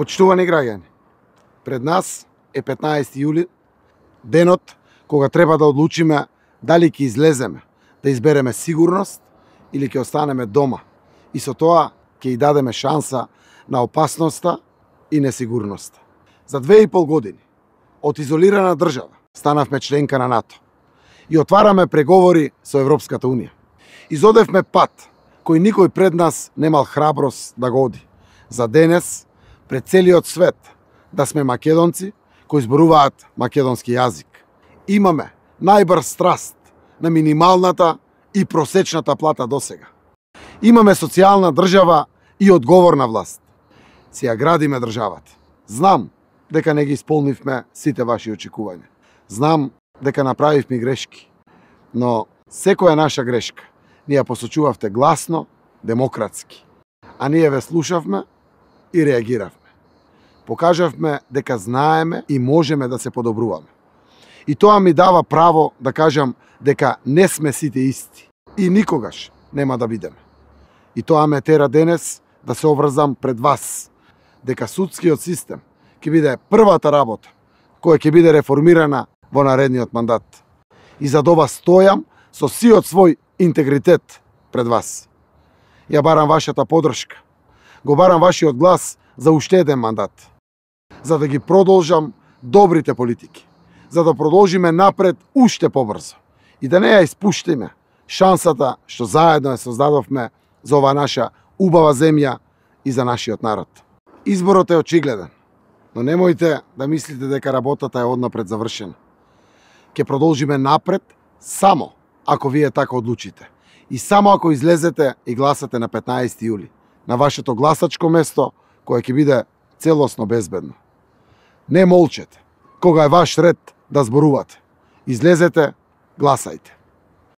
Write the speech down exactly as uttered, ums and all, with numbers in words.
Почитувани граѓани, пред нас е петнаесети јули, денот кога треба да одлучиме дали ќе излеземе, да избереме сигурност или ќе останеме дома и со тоа ќе и дадеме шанса на опасноста и несигурноста. За две и пол години од изолирана држава станавме членка на НАТО и отвараме преговори со Европската Унија. Изодевме пат кој никој пред нас немал храброст да го оди. За денес, пред целиот свет, да сме македонци кои зборуваат македонски јазик. Имаме најбрз раст на минималната и просечната плата досега. Имаме социјална држава и одговорна власт. Си ја градиме државата. Знам дека не ги исполнивме сите ваши очекувања. Знам дека направивме грешки, но секоја наша грешка ни ја посочувавте гласно, демократски. А ние ве слушавме и реагиравме. Покажавме дека знаеме и можеме да се подобруваме. И тоа ми дава право да кажам дека не сме сите исти и никогаш нема да бидеме. И тоа ме тера денес да се обврзам пред вас дека судскиот систем ќе биде првата работа која ќе биде реформирана во наредниот мандат. И за ова стојам со сиот свој интегритет пред вас. Ја барам вашата подршка. Го барам вашиот глас за уште еден мандат. За да ги продолжам добрите политики. За да продолжиме напред уште побрзо. И да не ја испуштиме шансата што заедно ја создадовме за оваа наша убава земја и за нашиот народ. Изборот е очигледен, но немојте да мислите дека работата е однапред завршена. Ќе продолжиме напред само ако вие така одлучите. И само ако излезете и гласате на петнаесети јули, на вашето гласачко место, кое ќе биде целосно безбедно. Не молчете, кога е ваш ред да зборувате. Излезете, гласајте.